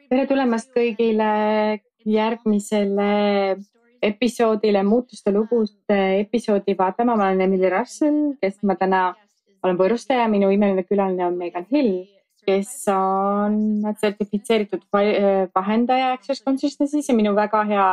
tere tulemast kõigile järgmisele episoodile, muutuste lugude episoodi vaatama. Ma olen Emily Russell, kes ma täna olen võõrustaja. Minu imeline külaline on Megan Hill, kes on sertifitseeritud vahendaja Access Consciousnessis ja minu väga hea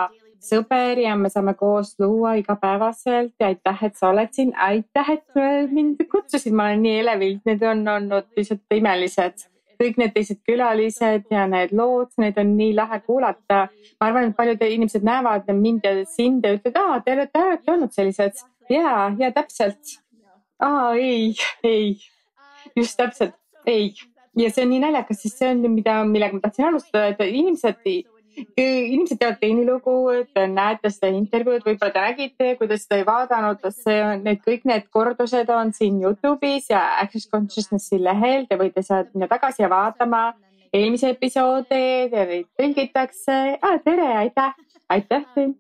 sõber ja me saame koos luua igapäevaselt ja aitäh, et sa oled siin. Aitäh, et mind kutsusid. Ma olen nii elevil, need on olnud lihtsalt imelised. Kõik need teised külalised ja need lood, need on nii lahe kuulata. Ma arvan, et paljud inimesed näevad mind ja sind ja ütlevad, te olete alati olnud sellised. Ja täpselt. Ei, just täpselt, ei. Ja see on nii naljakas, sest see on, millega ma tahtsin alustada, et inimesed teevad teenilugu, et näete seda intervjuud, võib-olla te nägite, kuidas seda ei vaadanud, kõik need kordused on siin YouTube'is ja Access Consciousnessi lehel, te võite sealt minna tagasi ja vaatama eelmise episoodi, neid tõlgitakse. Tere, aitäh teil.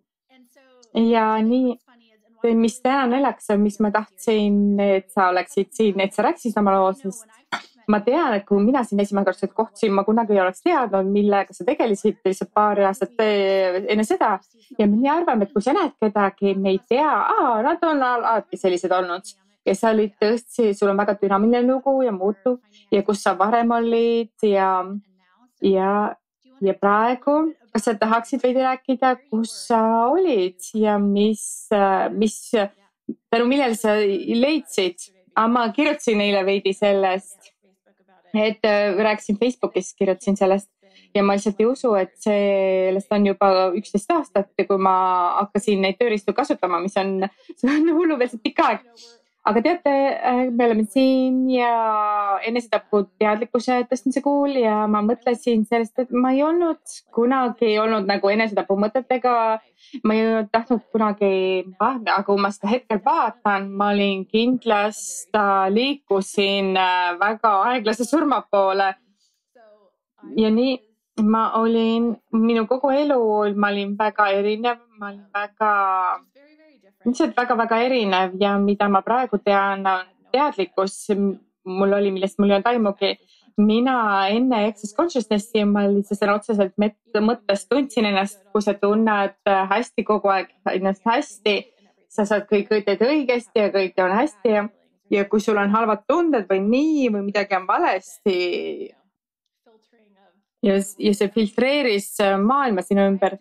Ja nii, mis täna naljakas on, mis ma tahtsin, et sa oleksid siin, et sa rääkisid oma loo, sest ma tean, et kui mina siin esimene kord kohtusin, ma kunagi ei oleks teadnud, millega sa tegelesid lihtsalt paar aastat enne seda. Ja me nii arvame, et kui sa näed kedagi, me ei tea, nad on alati sellised olnud. Ja sa olid tõesti, sul on väga dünaamiline lugu ja muutub ja kus sa varem olid ja praegu, kas sa tahaksid veidi rääkida, kus sa olid ja mis tänu millele sa leidsid? Ma kirjutasin neile veidi sellest. Et rääkisin Facebookis, kirjutasin sellest ja ma lihtsalt ei usu, et sellest on juba 11 aastat, kui ma hakkasin neid tööriistu kasutama, mis on hullumeelselt pikk aeg. Aga teate, me oleme siin ja enesetapu teadlikkuse tõstmise kuul ja ma mõtlesin sellest, et ma ei kunagi olnud nagu enesetapu mõtetega. Ma ei tahtnud kunagi, aga kui ma seda hetkel vaatan, ma olin kindlasti, liikusin väga aeglase surma poole. Ja nii ma olin, minu kogu elu, ma olin väga erinev, ma olin lihtsalt väga erinev ja mida ma praegu tean, teadlikkus mul oli, millest mul ei olnud aimugi. Mina enne Access Consciousnessi ma lihtsalt sõna otseselt mõttes tundsin ennast, kui sa tunned hästi kogu aeg ennast hästi, sa saad kõik teed õigesti ja kõik on hästi ja kui sul on halvad tunded või nii või midagi on valesti ja see filtreeris maailma sinu ümber.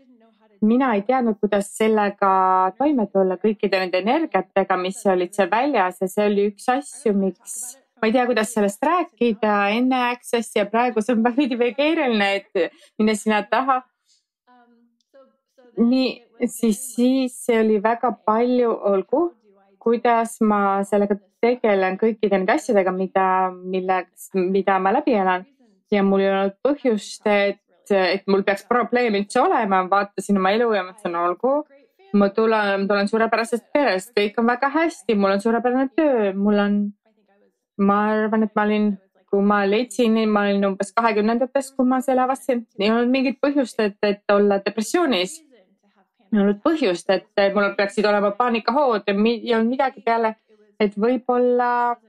Mina ei teadnud, kuidas sellega toime tulla kõikide nende energiatega, mis olid seal väljas ja see oli üks asju, miks ma ei tea, kuidas sellest rääkida enne Access ja praegu see on veidi keeruline, et minna sinna taha. Nii, siis see oli väga palju, olgu, kuidas ma sellega tegelen kõikide nende asjadega, mida ma läbi elan ja mul ei olnud põhjust, et mul peaks probleem üldse olema, vaatasin oma elu ja mõtlesin, olgu, ma tulen suurepärasest perest, kõik on väga hästi, mul on suurepärane töö, ma arvan, et kui ma leidsin, ma olin umbes 20-ndates, kui ma selle avastasin, ei olnud mingit põhjust, et olla depressioonis. Ei olnud põhjust, et mul peaksid olema paanikahood ja ei olnud midagi peale, et võib-olla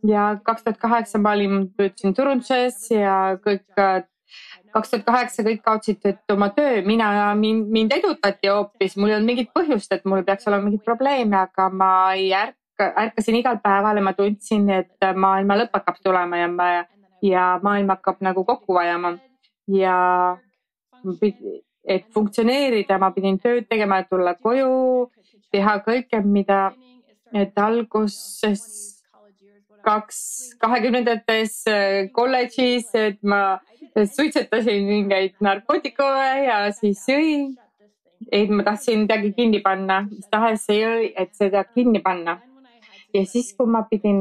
ja 2008 ma töötasin turunduses ja 2008 kõik kaotsid oma töö, mind edutati hoopis, mul ei olnud mingit põhjust, et mul peaks olema mingid probleeme, aga ma ärkasin igal päeval ja ma tundsin, et maailma lõpp hakkab tulema ja maailm hakkab nagu kokku vajama ja et funktsioneerida, ma pidin tööd tegema, tulla koju, teha kõike, et alguses 20-ndates kolledžis, et ma suitsetasin mingeid narkootikume ja siis jõin. Et ma tahtsin midagi kinni panna, mis tahes see jõi, et seda kinni panna. Ja siis, kui ma pidin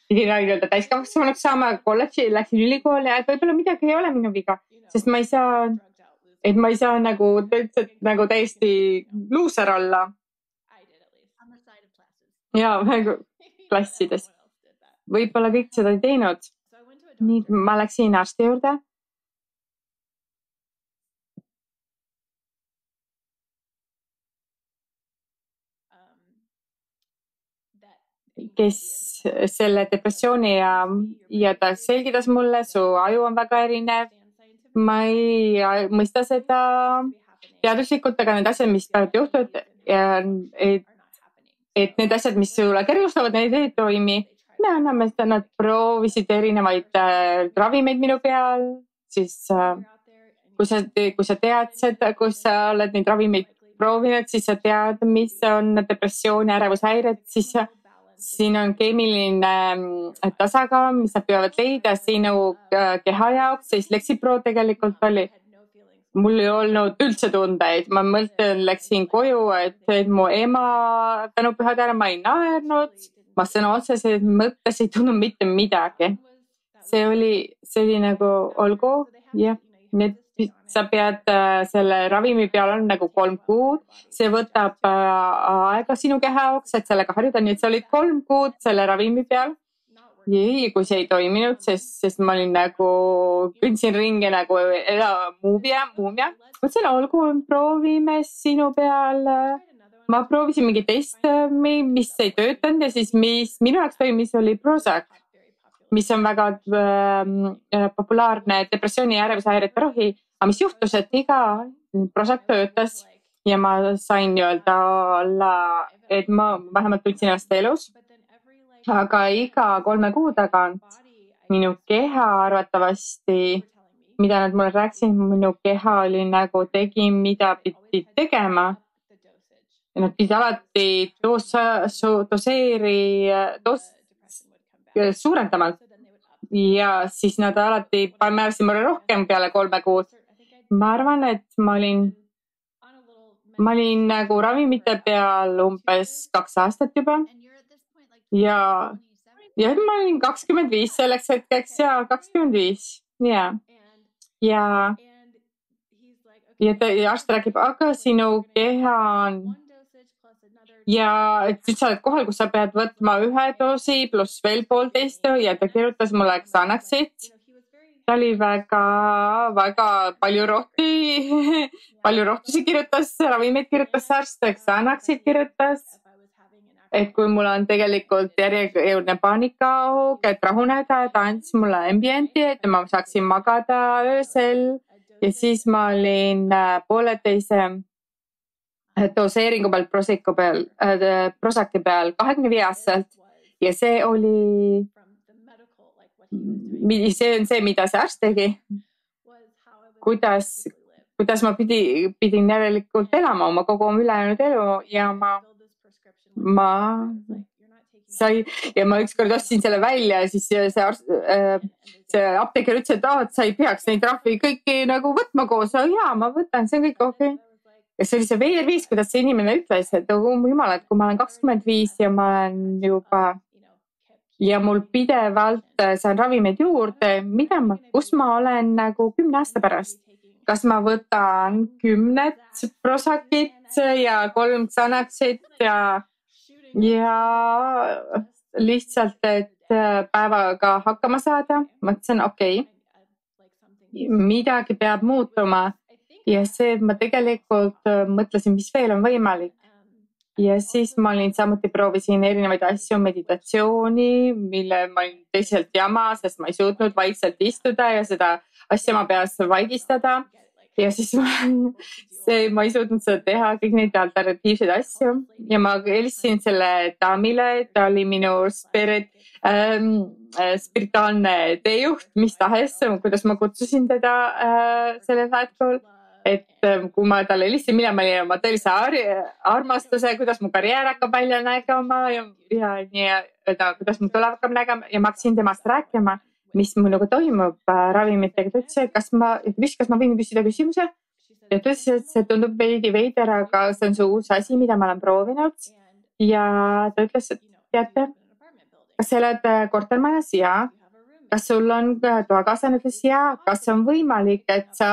nii-öelda täiskasvanuks saama kolledži, läksin ülikooli, et võib-olla midagi ei ole minu viga, sest ma ei saa nagu täiesti luuser olla. Ja klassides. Võib-olla kõik seda ei teinud. Nii, ma läksin arsti juurde. kes selle depressiooni ja ta selgitas mulle, su aju on väga erinev. Ma ei mõista seda teaduslikult, aga need asjad, mis peavad juhtuda ja et need asjad, mis sulle kergustavad, need ei toimi. Me anname seda, nad proovisid erinevaid ravimeid minu peal, siis kui sa tead seda, kui sa oled neid ravimeid proovinud, siis sa tead, mis on depressioon ja ärevushäired, siis siin on keemiline tasakaal, mis nad peavad leida sinu keha jaoks, siis Lexipro tegelikult oli. Mul ei olnud üldse tundeid, ma mõtlen, läksin koju, et mu ema tänu pühadele ma ei naernud, ma sõna otseselt mõttes ei tundnud mitte midagi. See oli nagu olgu, jah, sa pead selle ravimi peal on nagu 3 kuud, see võtab aega sinu keha jaoks, et sellega harjuda, nii et sa olid 3 kuud selle ravimi peal. Jei, kui see ei toiminud, sest ma olin nagu, kõndsin ringi nagu muumia. Mõtlesin, olgu, proovime sinu peal. Ma proovisin mingi teist, mis ei töötanud ja siis mis minu jaoks toimis oli Prozac, mis on väga populaarne depressiooni ja ärevushäirete ravi. Aga mis juhtus, et iga Prozac töötas ja ma sain öelda olla, et ma vähemalt tundsin ennast elus. Aga iga 3 kuu tagant minu keha arvatavasti, mida nad mulle rääkisid, minu keha oli nagu tegi, mida pidi tegema. Nad pidid alati suurendama ja siis nad alati määrasid mulle rohkem peale 3 kuud. Ma arvan, et ma olin nagu ravimite peal umbes 2 aastat juba. Ja ma olin 25 selleks hetkeks ja 25. Ja arst räägib, aga sinu keha on ja et nüüd sa oled kohal, kus sa pead võtma 1 doosi pluss veel 1,5 ja ta kirjutas mulle Xanaxit. Ta oli väga palju rohtusi kirjutas, ravimeid kirjutas arst, Xanaxit kirjutas. Et kui mul on tegelikult järjekordne paanikahoog, et rahuneda, ta andis mulle ambienti, et ma saaksin magada öösel ja siis ma olin 1,5 doseeringu peal Prozaci peal 25-aastaselt ja see on see, mida see arst tegi. Kuidas ma pidin järelikult elama oma kogu ülejäänud elu ja ma ükskord ostsin selle välja ja siis see apteeker ütles, et sa ei peaks neid trahvi kõiki nagu võtma koos. Jaa, ma võtan, see on kõik okei. Ja see oli see veerviis, kuidas see inimene ütles, et jumal, et kui ma olen 25 ja ma olen juba ja mul pidevalt saan ravimeid juurde, kus ma olen nagu 10 aasta pärast. Kas ma võtan 10 Prozacit ja 3 Xanaxit ja lihtsalt, et päevaga hakkama saada. Mõtlesin, okei, midagi peab muutuma ja see ma tegelikult mõtlesin, mis veel on võimalik. Ja siis ma proovisin erinevaid asju, meditatsiooni, mille ma olin teisalt jama, sest ma ei suutnud vaikselt istuda ja seda asja ma peas vaigistada. Ja siis ma ei suutnud seda teha, kõik neid alternatiivseid asju ja ma helistasin selle daamile, ta oli minu spirituaalne teejuht, mis tahes, kuidas ma kutsusin teda sellel hetkul, et kui ma talle helistasin, mina ma olin oma tõelise armastuse, kuidas mu karjäär hakkab välja nägema ja kuidas mu tulev hakkab nägema ja ma hakkasin temast rääkima, mis minuga toimub ravimitega. Ta ütles, kas ma võin küsida küsimuse? Ja ta ütles, et see tundub veidi veider, aga see on see uus asi, mida ma olen proovinud. Ja ta ütles, et teate, kas sa oled kortermajas? Jaa. Kas sul on toakaaslane? Ütles jaa. Kas on võimalik, et sa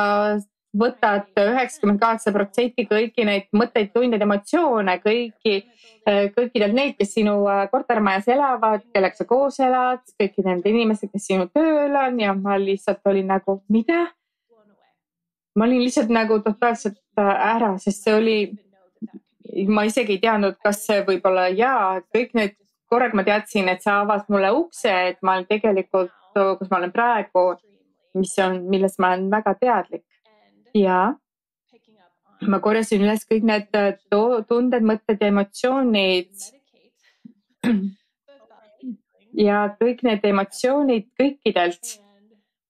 võtad 98% kõiki neid mõtteid, tundeid, emotsioone, kõikidelt neid, kes sinu kortermajas elavad, kellega sa koos elad, kõiki need inimesed, kes sinu tööl on ja ma lihtsalt olin nagu, mida? Ma olin lihtsalt nagu totaalselt ära, sest see oli, ma isegi ei teadnud, kas see võib olla kõik need korraga ma teadsin, et sa avas mulle ukse, et ma olen tegelikult, kus ma olen praegu, millest ma olen väga teadlik. Ja ma korjasin üles kõik need tunded, mõtted ja emotsioonid ja kõik need emotsioonid kõikidelt.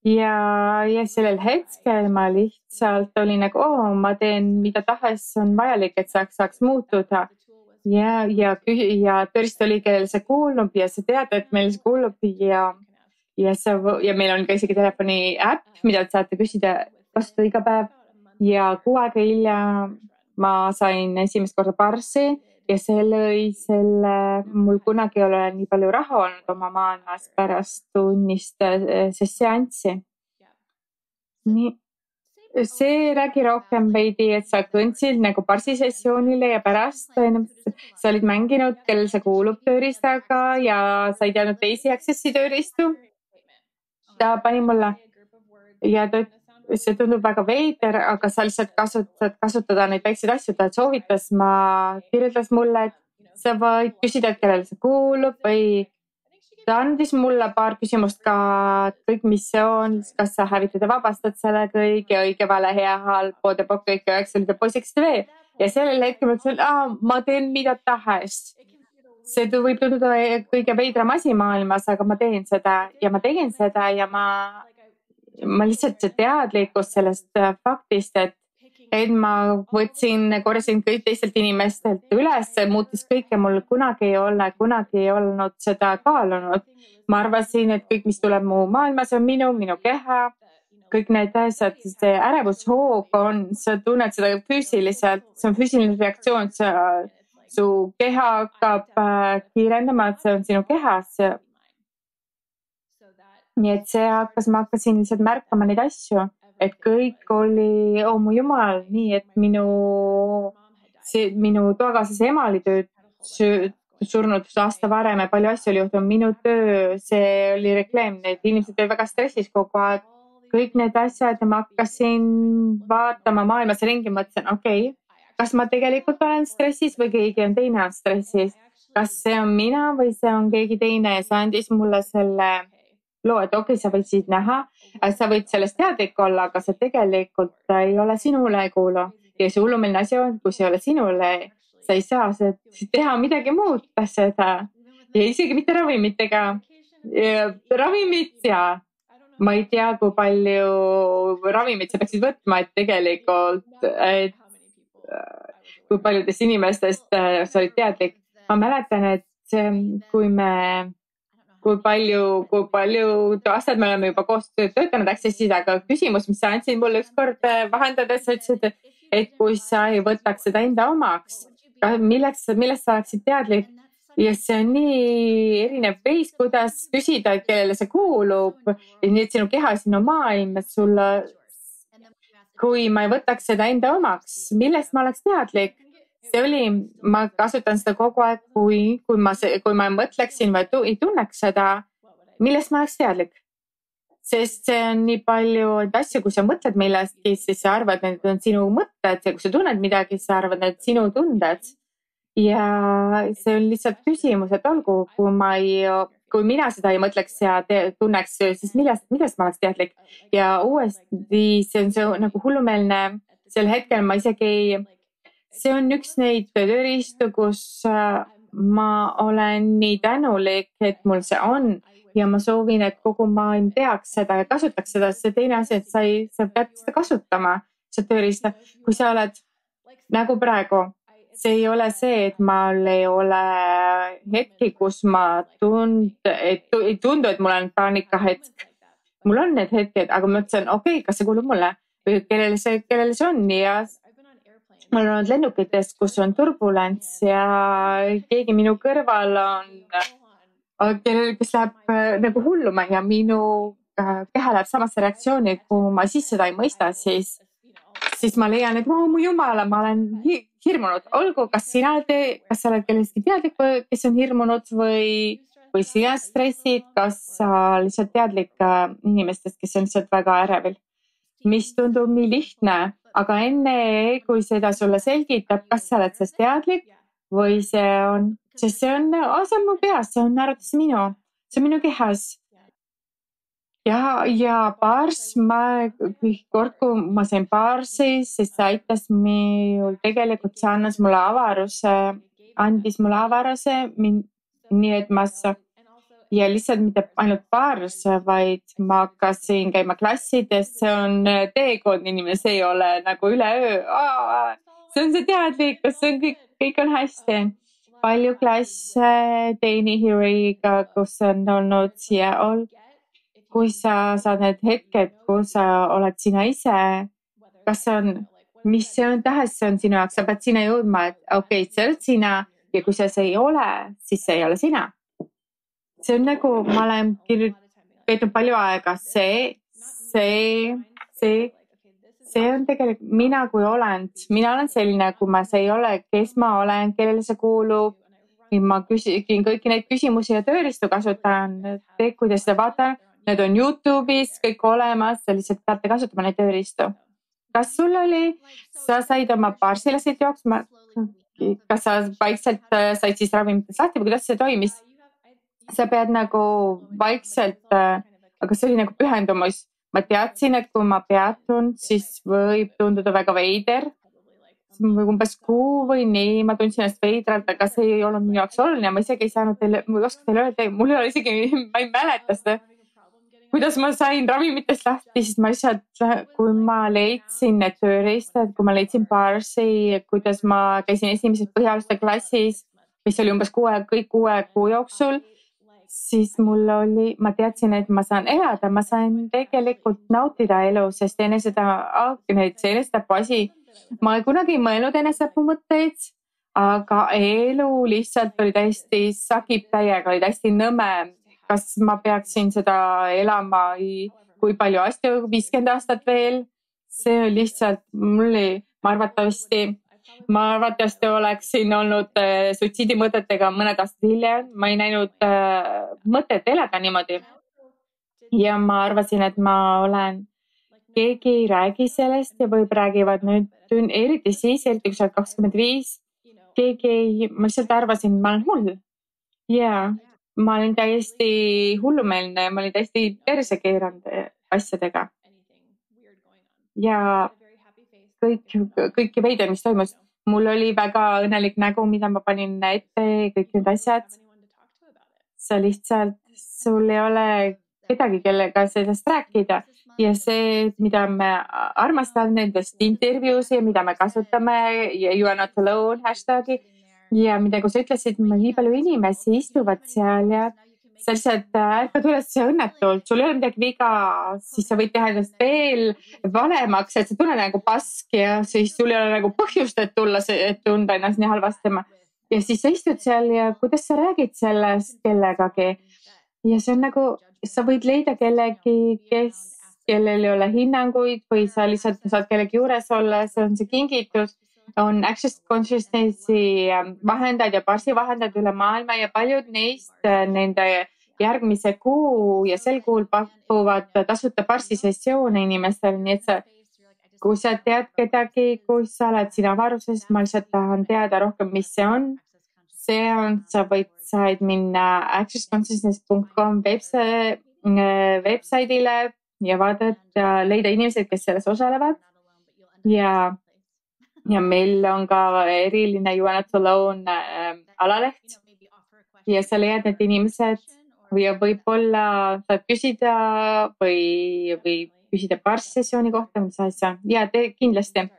Ja sellel hetkel ma lihtsalt olin nagu, ma teen mida tahes on vajalik, et saaks muutuda. Ja tõesti oli, kellel see kuulub ja sa tead, et meil see kuulub ja meil on ka isegi telefoni äpp, mida te saate kasutada iga päev. Ja 2 aega hiljem ma sain esimest korda Barsi ja see lõi mul kunagi ei ole nii palju raha olnud oma maailmas pärast tunnist seanssi. Nii. See räägi rohkem veidi, et sa kõndsid nagu Barsi sessioonile ja pärast sa olid mänginud, kellel see kuulub tööriistaga ja sa ei teadnud teisi Accessi tööriistu. Ta pani mulle ja see tundub väga veider, aga sa lihtsalt saad kasutada neid väikseid asju, ta soovitas, kirjeldas mulle, et sa võid küsida, et kellele see kuulub või ta andis mulle paar küsimust ka, kõik, mis see on, kas sa hävitad ja vabastad selle kõige, õige, vale, hea, halb, poodepokk, kõik 9 poisiks TV. Ja sellel hetkel ma ütlesin, ma teen mida tahes. See võib tunduda kõige veidram asi maailmas, aga ma teen seda ja ma tegin seda ja ma lihtsalt see teadlikkus sellest faktist, et ma korjasin kõik teistelt inimestelt üles, muutis kõike, mul kunagi ei olnud seda kaalunud. Ma arvasin, et kõik, mis tuleb mu maailmas, on minu keha, kõik need asjad, see ärevushoog sa tunned seda füüsiliselt, see on füüsiline reaktsioon, su keha hakkab kiirendama, et see on sinu kehas. Nii et ma hakkasin lihtsalt märkama neid asju, et kõik oli, mu jumal, nii et minu toakaaslase ema oli surnud aasta varem ja palju asju oli juhtunud. Minu töö, see oli rekleem, need inimesed olid väga stressis kogu aeg. Kõik need asjad ja ma hakkasin vaatama maailmas ringi, mõtlesin, okei, kas ma tegelikult olen stressis või keegi on teine on stressis. Kas see on mina või see on keegi teine ja see andis mulle selle loo, et okei, sa võid siit näha, sa võid sellest teadlik olla, aga see tegelikult ei ole sinule ei kuulu. Ja see hullumeelne asi on, kui see ei ole sinule, sa ei saa teha midagi muuta seda. Ja isegi mitte ravimitega. Ravimid ja ma ei tea, kui palju ravimid sa peaksid võtma, et tegelikult, kui paljudest inimestest sa olid teadlik. Ma mäletan, et kui palju aastad me oleme juba koos töötanud Accessis, aga küsimus, mis sa andsid mulle ükskord vahendades, sa ütlesid, et kui sa ei võtaks seda enda omaks, millest sa oleksid teadlik ja see on nii erinev veis, kuidas küsida, et kellele see kuulub, nii et sinu keha, sinu maailm, et kui ma ei võtaks seda enda omaks, millest ma oleks teadlik? Ma kasutan seda kogu aeg, kui ma mõtleksin või ei tunneks seda, millest ma oleks teadlik. Sest see on nii palju asju, kui sa mõtled millestki, siis sa arvad, et need on sinu mõtted ja kui sa tunned midagi, sa arvad, et sinu tunded. Ja see on lihtsalt küsimus, et olgu, kui mina seda ei mõtleks ja tunneks, siis millest ma oleks teadlik. Ja uuesti see on nagu hullumeelne, sel hetkel ma isegi see on üks neid tööriistu, kus ma olen nii tänulik, et mul see on ja ma soovin, et kogu maailm teaks seda ja kasutaks seda. See teine asi, et sa pead seda kasutama, seda tööriista. Kui sa oled nagu praegu, see ei ole see, et mul ei ole hetki, kus ma ei tundu, et mul on paanikahetk. Mul on need hetked, aga ma mõtlesin, okei, kas see kuulub mulle või kellele see on ja mul on olnud lennukites, kus on turbulents ja keegi minu kõrval kes läheb nagu hulluma ja minu keha läheb samasse reaktsiooni, kui ma siis seda ei mõista, siis ma leian, et mu jumala, ma olen hirmunud. Olgu, kas sa oled kellestki teadlik, kes on hirmunud või sina stressid, kas sa lihtsalt teadlik inimestest, kes on lihtsalt väga ärevil, mis tundub nii lihtne. Aga enne, kui seda sulle selgitab, kas sa oled sellest teadlik või see on sest see on mu peas, see on arvates minu, see on minu kehas. Ja baars, kõik kord, kui ma sain baarsi, siis see aitas minul tegelikult, see andis mulle avaruse, nii et ja lihtsalt mitte ainult baars, vaid ma hakkasin käima klassides, see on teekond inimene, see ei ole nagu üleöö. See on see teadlikkus, see on kõik on hästi. Palju klasse Dani Heroiga, kus on olnud Seattle. Kui sa saad need hetked, kus sa oled sina ise, kas see on, mis see on tahes, see on sinu jaoks, sa pead sinna jõudma, et okei, see oled sina ja kui see ei ole, siis see ei ole sina. See on nagu, ma olen veetnud palju aega, see on tegelikult mina kui olend, mina olen selline, kui see ei ole, kes ma olen, kellele see kuulub. Ma küsin kõiki neid küsimusi ja tööriistu kasutan, kuidas seda vaatan. Need on YouTube'is kõik olemas, sa lihtsalt peate kasutama neid tööriistu. Kas sul oli, sa said oma baarsilasid jooksma, kas sa vaikselt said siis ravimitest lahti või kuidas see toimis? Sa pead nagu vaikselt, aga see oli nagu pühendumus. Ma teadsin, et kui ma peatun, siis võib tunduda väga veider. Umbes 6 või 4, ma tundsin ennast veidralt, aga see ei olnud minu jaoks oluline. Ma isegi ei saanud teile, ma ei oska teile öelda, mul ei ole isegi, ma ei mäleta seda. Kuidas ma sain ravimitest lahti, siis ma lihtsalt, kui ma leidsin need tööriistad, kui ma leidsin baarsi, kuidas ma käisin esimeses põhialuste klassis, mis oli umbes 6 kuu jooksul, siis ma teadsin, et ma saan elada, ma sain tegelikult nautida elu, sest enesetapu asi, ma kunagi ei mõelnud enesetapu mõtteid, aga elu lihtsalt oli täiesti sakib täiega, oli täiesti nõme. Kas ma peaksin seda elama, kui palju asju, 50 aastat veel? See on lihtsalt, ma arvatavasti oleksin olnud suitsiidimõtetega mõned aastad hiljem. Ma ei näinud mõtet elada niimoodi. Ja ma arvasin, et ma olen, keegi ei räägi sellest ja võib räägivad nüüd, eriti kui sa oled 25, ma lihtsalt arvasin, ma olen hull. Jaa. Ma olin täiesti hullumeelne, ma olin täiesti perse keeranud asjadega. Ja kõik veider, mis toimus. Mul oli väga õnnelik nägu, mida ma panin ette, kõik need asjad. Sa lihtsalt, sul ei ole kedagi, kellega sellest rääkida. Ja see, mida me armastame nendest intervjuusi, mida me kasutame, You are not alone hashtagi. Ja mida, kui sa ütlesid, nii palju inimesi istuvad seal ja sa lihtsalt ärkad üles õnnetult, sul ei ole midagi viga, siis sa võid teha endast veel valemaks, et sa tunned nagu pask ja siis sul ei ole nagu põhjust, et tulla, et tunda ennast nii halvasti. Ja siis sa istud seal ja kuidas sa räägid sellest kellegagi. Ja see on nagu, sa võid leida kellegi, kellel ei ole hinnanguid või sa lihtsalt saad kellegi juures olla, see on see kingitus. On Access Consciousnessi vahendajad ja baarsi vahendajad üle maailma ja paljud neist nende järgmise kuu ja sel kuul pakuvad tasuta baarsi sessioone inimestele, nii et kui sa tead kedagi, kui sa oled siin avaruses, ma lihtsalt tahan teada rohkem, mis see on. Sa said minna accessconsciousness.com websaidile ja vaadata, leida inimesed, kes selles osalevad ja meil on ka eriline You are not alone alaleht ja sa leiad need inimesed ja võib-olla saad küsida või küsida baarsessiooni kohta, mis asja. Ja te kindlasti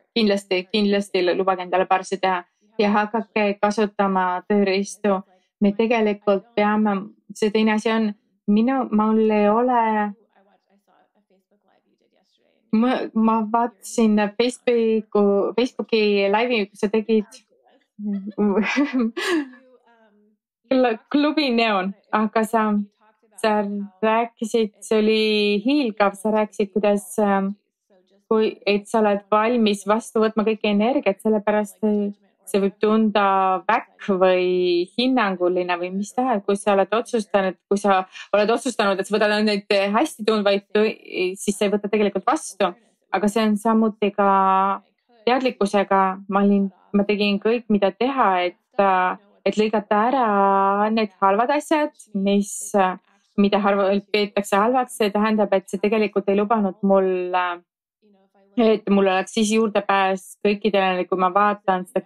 lubage endale baarsi teha ja hakake kasutama tööriistu. Me tegelikult peame, see teine asi on, mul ei ole ma vaatasin Facebooki laivi, kus sa tegid klubi Neon, aga sa rääkisid, see oli hiilgav, sa rääkisid, kuidas, et sa oled valmis vastu võtma kõike energiat, sellepärast see võib tunda väkk või hinnanguline või mis tahes, kui sa oled otsustanud, et sa võtad neid hästi tundvaid, siis sa ei võta tegelikult vastu. Aga see on samuti ka teadlikkusega. Ma tegin kõik, mida teha, et lõigata ära need halvad asjad, mida peetakse halvaks, see tähendab, et see tegelikult ei lubanud mul, et mul oleks siis juurdepääs kõikidele, kui ma vaatan seda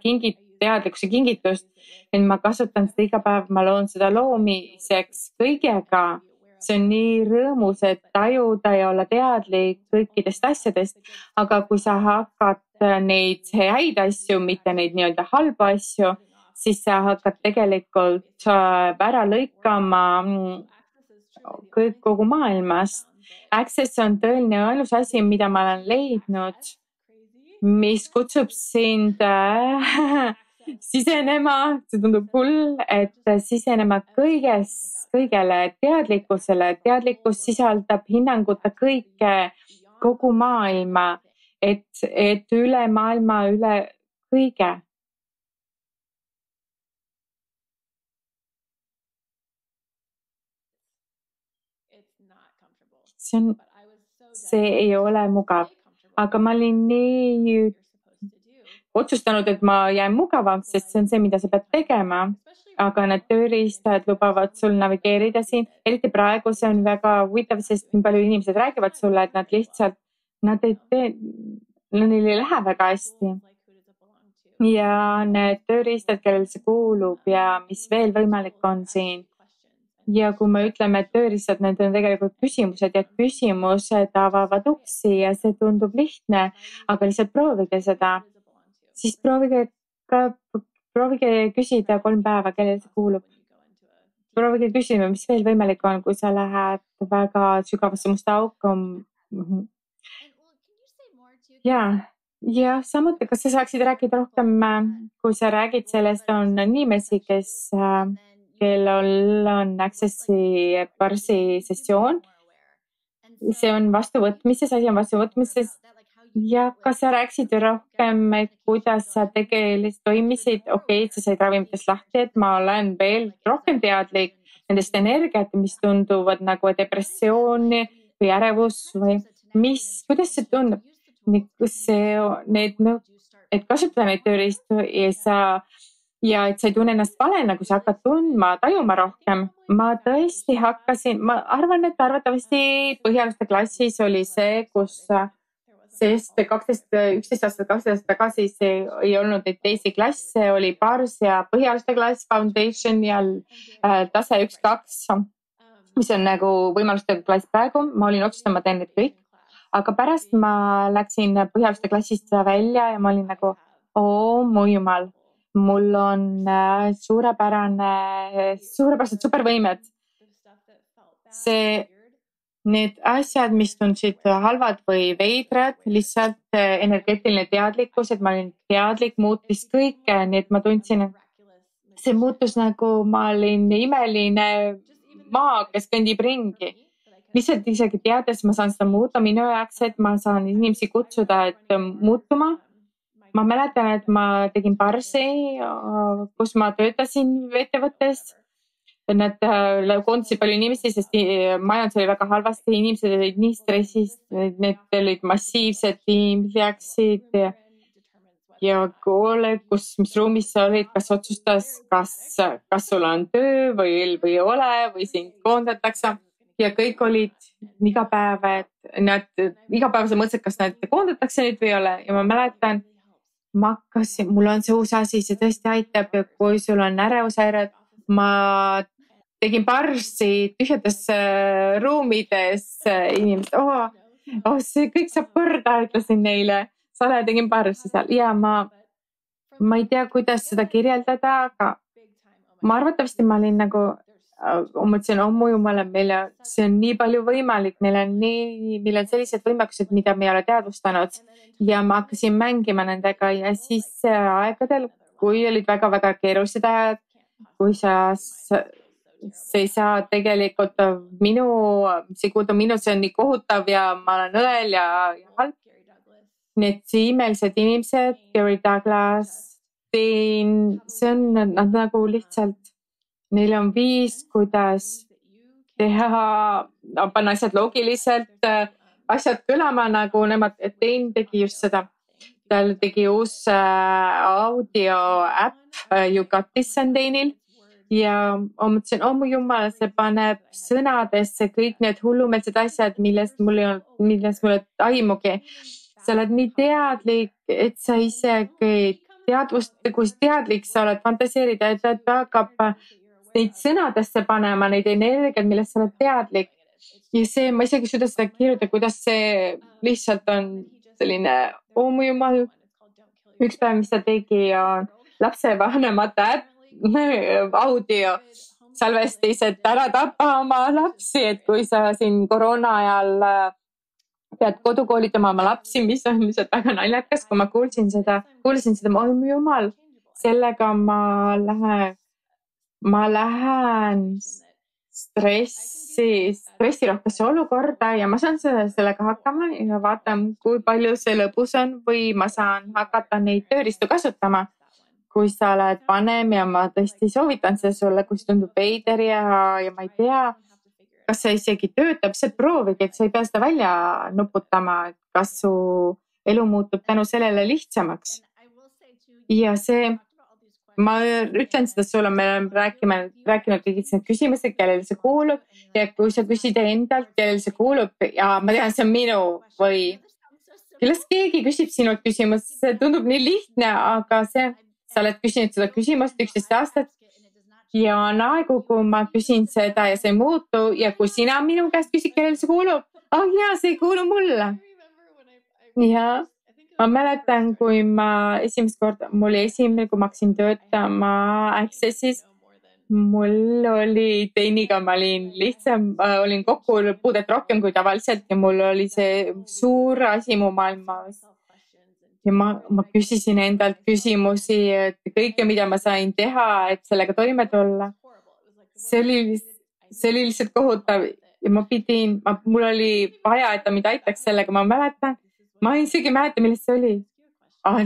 teadlikkuse kingitust, et ma kasutan seda iga päev, ma loon seda loomiseks kõigega. See on nii rõõmus, et tajuda ja olla teadlik kõikidest asjadest, aga kui sa hakkad neid häid asju, mitte neid nii-öelda halbu asju, siis sa hakkad tegelikult ära lõikama kogu maailmast. Access on tõeline ainus asi, mida ma olen leidnud, mis kutsub sind sisenema, see tundub hull, et sisenema kõigele teadlikkusele. Teadlikkus sisaldab hinnanguta kõike, kogu maailma, et üle maailma, üle kõige. See ei ole mugav, aga ma olin nii otsustanud, et ma jään mugavaks, sest see on see, mida sa pead tegema. Aga need tööriistad lubavad sul navigeerida siin. Eriti praegu see on väga huvitav, sest nii palju inimesed räägivad sulle, et nad lihtsalt, neil ei lähe väga hästi. Ja need tööriistad, kellel see kuulub ja mis veel võimalik on siin. Ja kui me ütleme, et tööriistad, need on tegelikult küsimused ja küsimused avavad uksi ja see tundub lihtne, aga lihtsalt proovige seda. Siis proovige küsida 3 päeva, kellele see kuulub. Proovige küsima, mis veel võimalik on, kui sa lähed väga sügavasse musta auku. Ja samuti, kas sa saaksid rääkida rohkem, kui sa räägid sellest, on inimesi, kellel on Accessi Barsi sessioon. See on vastuvõtmises, asi on vastuvõtmises. Ja kas sa rääksid rohkem, kuidas sa tegelikult toimisid? Okei, sa said ravimitest lahti, et ma olen veel rohkem teadlik nendest energiat, mis tunduvad nagu depressiooni või ärevus või kuidas see tundub? Et kasutada neid tööriistu ja et sa ei tunne ennast valena, kui sa hakkad tajuma rohkem. Ma tõesti ma arvan, et arvatavasti põhialuste klassis oli see, sest 11 aastat, 12 aastat tagasi see ei olnud neid teisi klasse, oli Bars ja põhialuste klass, Foundation ja tase 1-2, mis on nagu võimaluste klass praegu. Ma olin otsustanud, ma teen need kõik. Aga pärast ma läksin põhialuste klassist välja ja ma olin nagu, mu jumal, mul on suurepärased supervõimed. Need asjad, mis tundsid halvad või veidrad, lihtsalt energeetiline teadlikkus, et ma olin teadlik, muutis kõike, nii et ma tundsin, et see muutus nagu ma olin imeline maa, kes kõndib ringi. Lihtsalt isegi teades, ma saan seda muuta minu jaoks, et ma saan inimesi kutsuda, et muutuma. Ma mäletan, et ma tegin Barsi, kus ma töötasin ettevõttes. Nad koondasid palju inimesi, sest majandus oli väga halvasti, inimesed olid nii stressis, need olid massiivsed, tiimid läksid ja mis ruumis sa olid, kas otsustas, kas sul on töö või ei ole või sind koondatakse. Ja kõik olid iga päev, sa mõtlesid, kas nad koondatakse nüüd või ei ole. Ja ma mäletan, mul on see uus asi, see tõesti aitab ja kui sul on ärevushäired, ma tegin Barsi tühjades ruumides inimesed, see kõik saab korda, ütlesin neile. Tegin Barsi seal ja ma ei tea, kuidas seda kirjeldada, aga ma arvatavasti ma olin nagu, mõtlesin, mu jumala, see on nii palju võimalik, meil on sellised võimekused, mida me ei ole teadvustanud ja ma hakkasin mängima nendega ja siis aegadel, kui olid väga-väga keerulised ajad, kui sa ei saa tegelikult see on nii kohutav ja ma olen õel ja halb. Need imelised inimesed, Gary Douglas, nad nagu lihtsalt, neil on viis, kuidas panna asjad loogiliselt, asjad kõlama nagu nemad, et tegi just seda. tal tegi uus audio äpp Yugatis Sandeinil ja ma mõtlesin, mu jumal, see paneb sõnadesse kõik need hullumeelsed asjad, millest mul ei aimugi. Sa oled nii teadlik, et sa isegi kui teadlik sa oled, fantaseerida, et ta hakkab neid sõnadesse panema, neid energiat, millest sa oled teadlik. Ja see, ma isegi ei suuda seda kirjutada, kuidas see lihtsalt on selline, mu jumal, üks päev, mis ta tegi, on lapsevanemate audio salvestis, et ära tapa oma lapsi, et kui sa siin koroona ajal pead kodukoolitama oma lapsi, mis on lihtsalt väga naljakas, kui ma kuulsin seda, mu jumal, sellega ma lähen stressirohkesse olukorda ja ma saan sellega hakkama ja vaatan, kui palju see lõbus on või ma saan hakata neid tööriistu kasutama. Kui sa oled vanem ja ma tõesti soovitan seda sulle, kui see tundub veider ja ma ei tea, kas see isegi töötab, see proovigi, et sa ei pea seda välja nuputama, et kas su elu muutub tänu sellele lihtsamaks. Ja see, ma ütlen seda sulle, me oleme rääkinud kõigist need küsimused, kellele see kuulub ja kui sa küsid endalt, kellele see kuulub ja ma tean, see on minu või kellest keegi küsib sinult küsimust, see tundub nii lihtne, aga see, sa oled küsinud seda küsimust 11 aastat ja on aegu, kui ma küsin seda ja see ei muutu ja kui sina minu käest küsid, kellele see kuulub, see ei kuulu mulle. Ja ma mäletan, kui ma esimest korda, mul oli esimene, kui ma hakkasin töötama Accessis, mul oli teiniga, ma olin kokkupuudet rohkem kui tavaliselt ja mul oli see suur asi mu maailmas. Ja ma küsisin endalt küsimusi, et kõike, mida ma sain teha, et sellega toime tulla. See oli lihtsalt kohutav ja mul oli vaja, et ta mind aitaks sellega, ma mäletan. Ma isegi ei mäleta, millest see oli.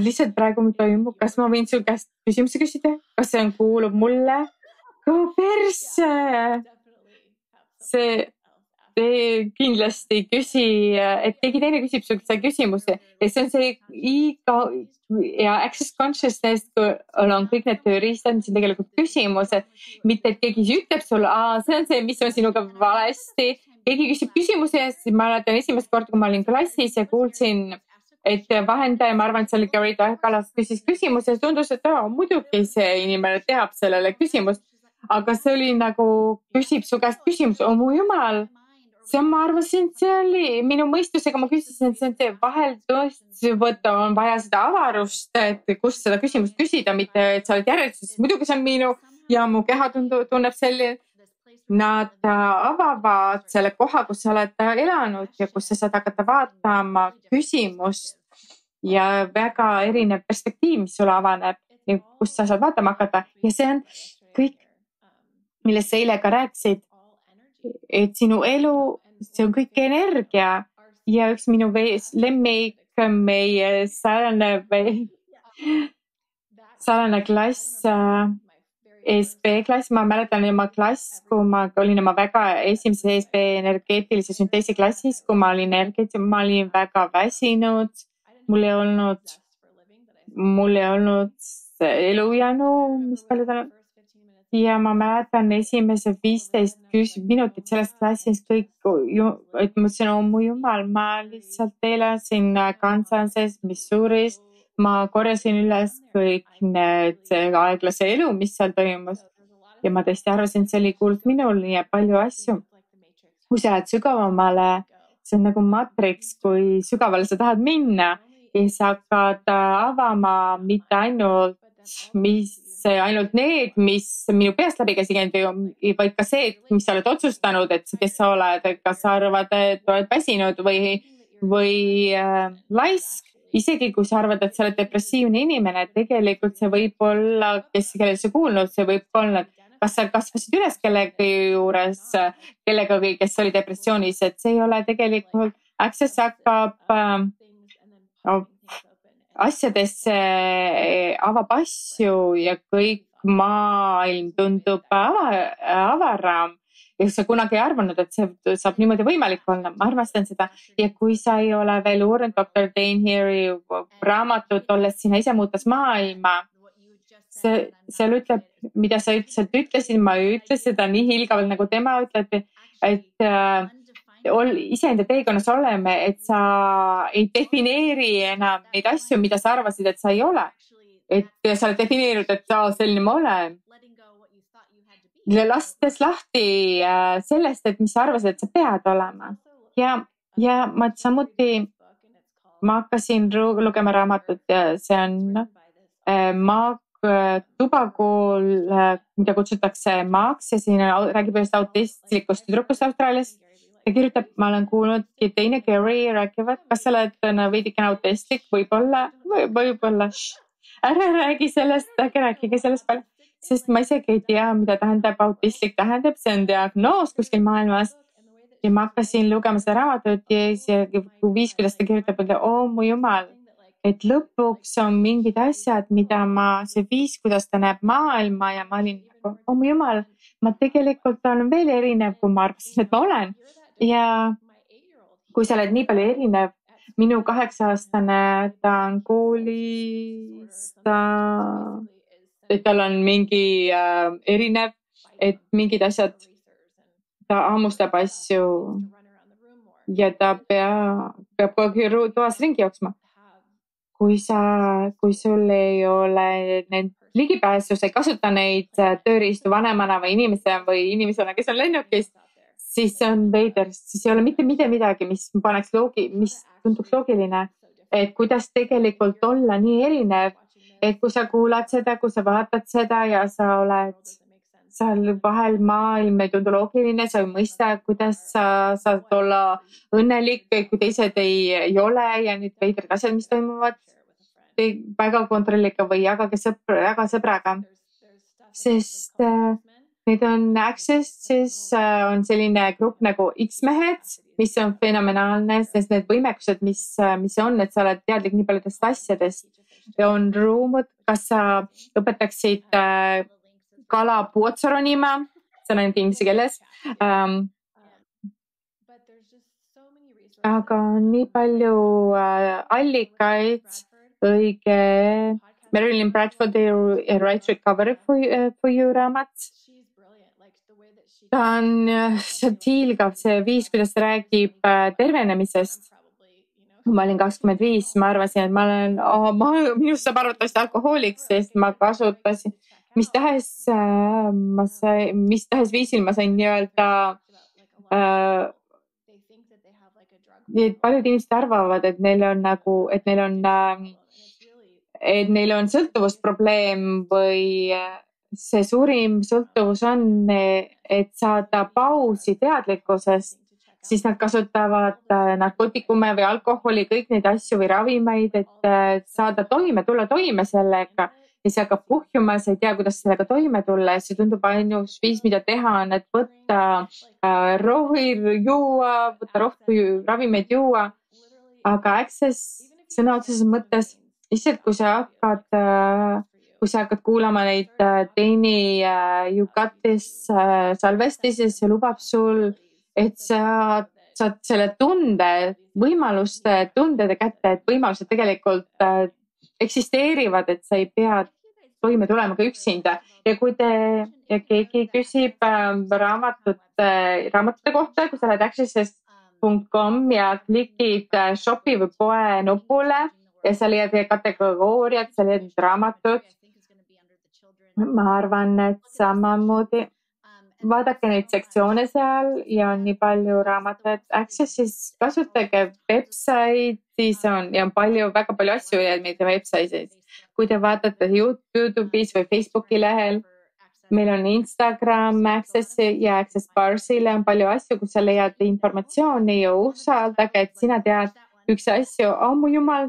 Lihtsalt praegu toimub, kas ma võin su käest küsimusi küsida? Kas see kuulub mulle? Persse! See kindlasti küsi, et keegi teine küsib sul seda küsimuse ja see on see ja access consciousness, kui on kõik need tööriistad, mis on tegelikult küsimused, mitte et keegi ütleb sulle, see on see, mis on sinuga valesti. Keegi küsib küsimuse ja siis ma mäletan esimest korda, kui ma olin klassis ja kuulsin, et vahendaja, ma arvan, et see oli Gary Kallas, küsis küsimuse ja tundus, et muidugi see inimene teab sellele küsimust, aga see oli nagu, küsib su käest küsimuse, mu jumal. Ma arvasin, et see oli minu mõistusega, ma küsisin, et see on see vahel tõesti võtta, on vaja seda avarust, et kust seda küsimust küsida, mitte et sa oled järjestuses. Muidugi see on minu ja mu keha tunneb selline. Nad avavad selle koha, kus sa oled elanud ja kus sa saad hakata vaatama küsimust ja väga erinev perspektiiv, mis sulle avaneb ja kus sa saad vaatama hakata. Ja see on kõik, millest sa eile ka rääkisid. Et sinu elu, see on kõik energia ja üks minu lemmik, meie salane klass, ESP klass, ma mäletan oma klass, kui ma olin oma väga esimeses ESP energeetilise sünteesi klassis, kui ma olin väga väsinud, mul ei olnud elujäänu, mis palju ta on. Ja ma mäletan esimesed 15 minutit sellest klassist kõik, et ma ütlesin, mu jumal, ma lihtsalt elasin Kansases, Missouris, ma korjasin üles kõik need aeglase elu, mis seal toimus. Ja ma tõesti arvasin, et see oli kuulnud minul ja palju asju. Kui sa lähed sügavamale, see on nagu matriks, kui sügavale sa tahad minna ja sa hakkad avama mitte ainult need, mis minu peast läbi käsinud, vaid ka see, mis sa oled otsustanud, et kes sa oled, kas sa arvad, et oled väsinud või laisk. Isegi kui sa arvad, et sa oled depressiivne inimene, tegelikult see võib olla, kellel sa kuulnud, see võib olla, kas sa kasvasid üles kellegi juures, kellegagi, kes oli depressioonis, et see ei ole tegelikult, access hakkab asjadesse, avab asju ja kõik maailm tundub avaram ja sa kunagi ei arvanud, et see saab niimoodi võimalik olla. Ma armastan seda. Ja kui sa ei ole veel uurinud Dr. Dane Heary raamatut, olles sina ise muutas maailma, seal ütleb, mida sa ütlesid, ma ei ütle seda nii hiilgavalt, nagu tema ütleb, et iseenda teekonnas oleme, et sa ei defineeri enam neid asju, mida sa arvasid, et sa ei ole. Et sa oled defineerinud, et selline ma olen. Lastes lahti sellest, et mis sa arvasid, et sa pead olema. Ja ma samuti, ma hakkasin lugema raamatut ja see on Mark Tubakool, mida kutsutakse Maaks ja siin räägib ühest autistlikust tüdrukust Austraalias. Ta kirjutab, ma olen kuulnud teine Gary räägivad, kas sa oled veidikene autistlik, võib-olla. Ära räägi sellest, rääkige sellest palju, sest ma isegi ei tea, mida tähendab autistlik tähendab, see on diagnoos kuskil maailmas. Ja ma hakkasin lugema seda raamatut ja kuidas ta kirjutab, et mu jumal, et lõpuks on mingid asjad, mida see viis, kuidas ta näeb maailma ja ma olin nagu, mu jumal, ma tegelikult olen veel erinev, kui ma arvasin, et ma olen. Ja kui sa oled nii palju erinev, minu 8-aastane, ta on koolis, et tal on mingi erinev, et mingid asjad, ta hammustab asju ja ta peab kogu aeg toas ringi jooksma. Kui sul ei ole ligipääsu, sa ei kasuta neid tööriistu vanemana või inimesena, kes on lennukis, siis see on veider, siis ei ole mitte midagi, mis tunduks loogiline, et kuidas tegelikult olla nii erinev, et kui sa kuulad seda, kui sa vaatad seda ja sa oled seal vahel maailm ei tundu loogiline, sa ei mõista, kuidas sa saad olla õnnelik, kui teised ei ole ja need veidrad asjad, mis toimuvad, väga kontrolliga või jagage sõbraga, sest need on Access, siis on selline grupp nagu X-mehed, mis on fenomenaalne, sest need võimekused, mis on, et sa oled teadlik nii paljudest asjadest. Ja on ruumud, kas sa õpetaksid kala puotsaro nima, see on ainult inglise keeles. Aga on nii palju allikaid, õige Marilyn Bradfordi Right Recovery for You raamat. Ta on hiilgav see viis, kuidas ta räägib tervenemisest. Ma olin 25, ma arvasin, et minust saab arvatavasti alkohoolik, sest ma kasutasin, mis tahes viisil ma sain nii-öelda, paljud inimesed arvavad, et neil on sõltuvusprobleem või see suurim sõltuvus on, et saada pausi teadlikkusest, siis nad kasutavad narkootikume või alkoholi, kõik neid asju või ravimeid, et saada tulla toime sellega ja see hakkab puhjuma, sa ei tea, kuidas sellega toime tulla ja see tundub ainus viis, mida teha on, et võtta rohtu ravimeid juua, aga Access sõna otseses mõttes, lihtsalt kui sa hakkad kuulama neid Teini Jukatis salvestis, siis see lubab sul, et sa saad selle tundede kätte, et võimalused tegelikult eksisteerivad, et sa ei pea toime tulema ka üksinda. Ja kui keegi küsib raamatute kohta, kui sa lähed access.com ja klikid shopi või poe nupule ja sa leiad kategooriad, sa leiad raamatud, ma arvan, et samamoodi vaadake neid sektsioone seal ja on nii palju raamatuid Accessis, kasutage website'is on väga palju asju meie website'is. Kui te vaatate YouTube'is või Facebooki lehel, meil on Instagram Accessi ja Access Barsile on palju asju, kus sa leiad informatsiooni ja usaldage, et sina tead üks asju, mu jumal,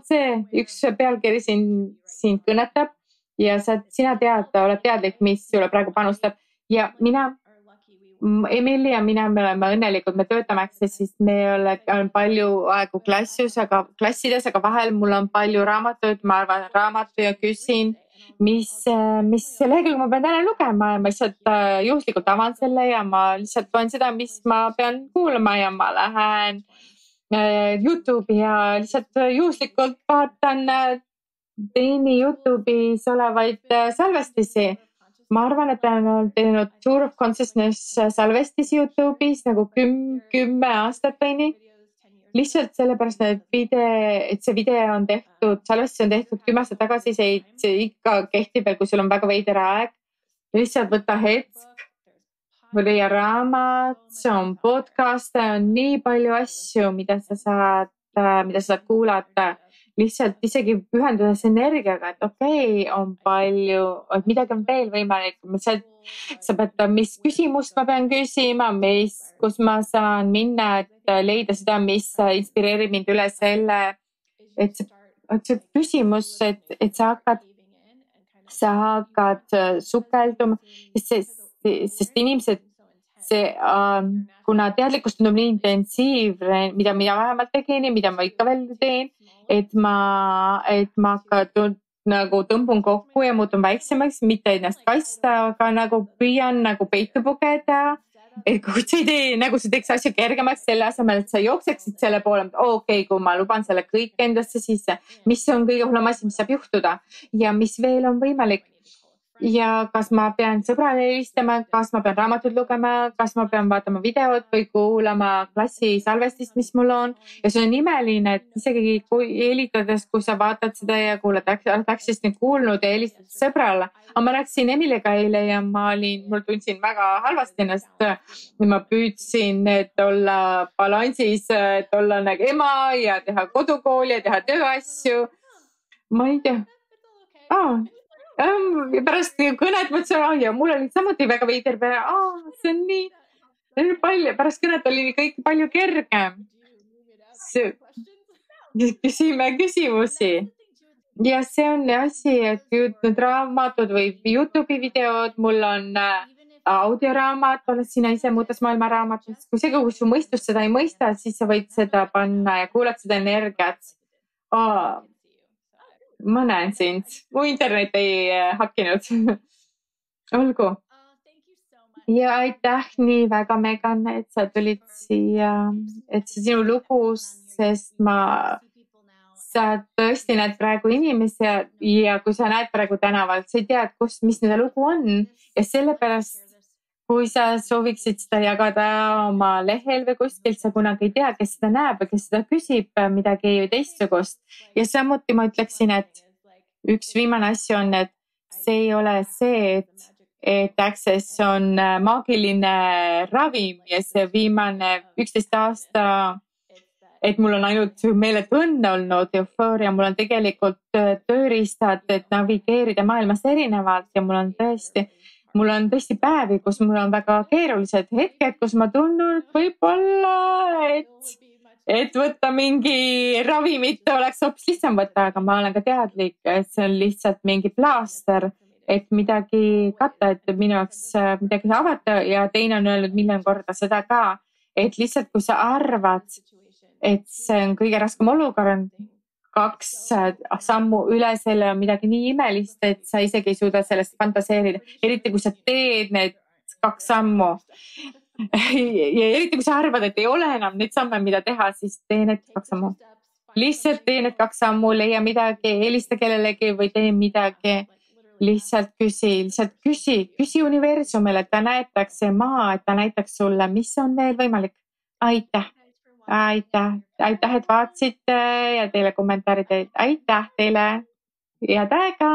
üks pealkiri sind kõnetab ja sina oled teadlik, mis sulle praegu panustab ja Emily ja mina, me oleme õnnelikud, me töötame Accessis, me olen palju aegu klassides, aga vahel mul on palju raamatuid, ma arvan raamatu ja küsin mis lehekülg ma pean täna lugema ja ma lihtsalt juhuslikult avan selle ja ma lihtsalt loen seda, mis ma pean kuulama ja ma lähen Youtube'i ja lihtsalt juhuslikult vaatan teini Youtube'is olevaid salvestisi. Ma arvan, et olen teinud Tour of Consciousness salvestisi Youtube'is nagu 10 aastat või nii. Lihtsalt sellepärast, et see video on tehtud, salvestus on tehtud 10 aastat tagasi, see ikka kehtib veel, kui sul on väga veider aeg. Lihtsalt võta hetk, leia raamat, see on podcast, on nii palju asju, mida sa saad kuulata. Lihtsalt isegi pühendudes energiaga, et okei, on palju, et midagi on veel võimalik. Sa pead, mis küsimust ma pean küsima, kus ma saan minna, et leida seda, mis inspireerib mind üle selle, et see küsimus, et sa hakkad sukelduma, sest inimesed, kuna teadlikkus tundub nii intensiivne, mida mina vähemalt tegin ja mida ma ikka veel teen, et ma hakkan nagu tõmbun kokku ja muutun väiksemaks, mitte ennast kaitsta, aga nagu püüan nagu peitu pugeda. Et kui sa ei tee, nagu sa teeks asju kergemaks selle asemel, et sa jookseksid selle poole, okei, kui ma luban selle kõik endasse sisse, mis on kõige hullem asi, mis saab juhtuda ja mis veel on võimalik. Ja kas ma pean sõbrale helistama, kas ma pean raamatut lugema, kas ma pean vaatama videot või kuulama klassi salvestist, mis mul on. Ja see on imeline, et isegi kui helitades, kui sa vaatad seda ja kuulad, läksid nüüd kuulnud ja helistad sõbrale. Aga ma rääkisin Emiliga eile ja mul tundsin väga halvasti ennast. Ma püüdsin, et olla balansis, et olla nagu ema ja teha kodukooli ja teha tööasju. Ma ei tea. Pärast kõnet mõtlesin, ja mul oli samuti väga veider peale, see on nii palju, pärast kõnet oli kõik palju kergem. Küsime küsimusi. Ja see on asi, et nüüd raamatud või Youtube'i videod, mul on audioraamat, oled sina ise muudes maailma raamatus. Kui su mõistus seda ei mõista, siis sa võid seda panna ja kuulad seda energiat. Ma näen sind. Mu internet ei hakkinud. Olgu. Ja aitäh nii väga, Megan, et sa tulid siia, et see sinu lugu, sest sa tõesti näed praegu inimesi ja kui sa näed praegu tänavalt, sa ei tea, mis nende lugu on ja sellepärast kui sa sooviksid seda jagada oma lehel või kuskilt, sa kunagi ei tea, kes seda näeb või kes seda küsib midagi teistsugust. Ja samuti ma ütleksin, et üks viimane asi on, et see ei ole see, et Access on maagiline ravim ja see viimane 11 aasta, et mul on ainult meeletu õnne olnud, eufooria, mul on tegelikult tööriistad, et navigeerida maailmas erinevalt ja mul on tõesti päevi, kus mul on väga keerulised hetked, kus ma tunnen, et võib-olla, et võtta mingi ravimit oleks hoopis lihtsam võtta, aga ma olen ka teadlik, et see on lihtsalt mingi plaaster, et midagi katta, et minu jaoks midagi avata ja teine on öelnud miljon korda seda ka, et lihtsalt kui sa arvad, et see on kõige raskem olukord, 2 sammu üle selle on midagi nii imelist, et sa isegi ei suuda sellest fantaseerida. Eriti kui sa teed need 2 sammu. Ja eriti kui sa arvad, et ei ole enam neid samme, mida teha, siis tee need 2 sammu. Lihtsalt tee need 2 sammu, leia midagi, helista kellelegi või tee midagi. Lihtsalt küsi universumile, et ta näitaks see maa, et ta näitaks sulle, mis on veel võimalik. Aitäh. Aitäh, et vaatasite ja teile kommentaarid. Aitäh teile. Head aega.